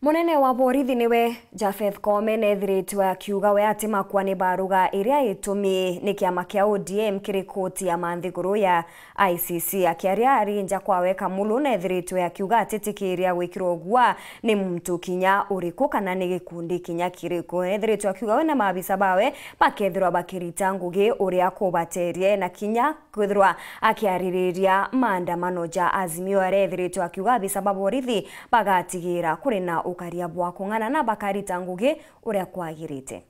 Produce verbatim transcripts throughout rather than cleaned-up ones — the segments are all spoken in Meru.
Munene wa borithi niwe Japheth Koome neethiritwe akiuga we atimakua ni baruga iria itumi ni kiama kia O D M kiri koti ya manthiguru ya I C C. Akiaria ari nja kwawe, Kamulu neethiritwe akiuga atitikiria gwikirwa ugua ni muntu kinya uriku kana ni gikundi kinya kiriku. Neethiritwe akiuga we na maabisa bawe bakethirwa bakirita ngugi uria kubaterie na kinya kwithirwa akiaririria maandamano ja Azimio aria ethiritwe akiuga abisa ba borithi bagatigira kuri na ukaria bwa kung'ana na bakarita ngugi uria kwagirite.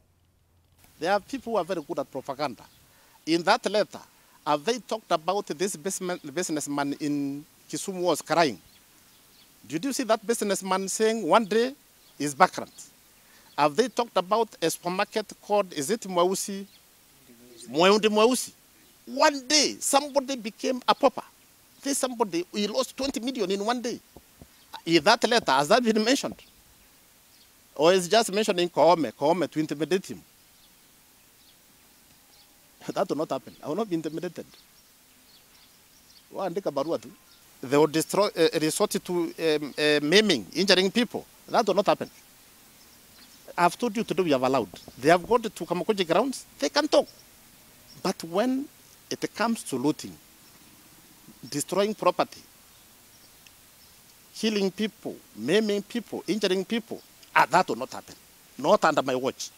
There are people who are very good at propaganda. In that letter, have they talked about this businessman, businessman in Kisumu was crying? Did you see that businessman saying one day is bankrupt? Have they talked about a supermarket called, is it Mweusi? Mweundi Mweusi. One day, somebody became a pauper. This somebody, he lost twenty million in one day. In that letter, has that been mentioned? Or is just mentioning Koome, Koome to intimidate him? That will not happen. I will not be intimidated. Waandika barua tu. They will destroy, uh, resort to um, uh, maiming, injuring people. That will not happen. I've told you today we have allowed. They have gone to Kamukunji grounds. They can talk. But when it comes to looting, destroying property, killing people, maiming people, injuring people, ah, that will not happen. Not under my watch.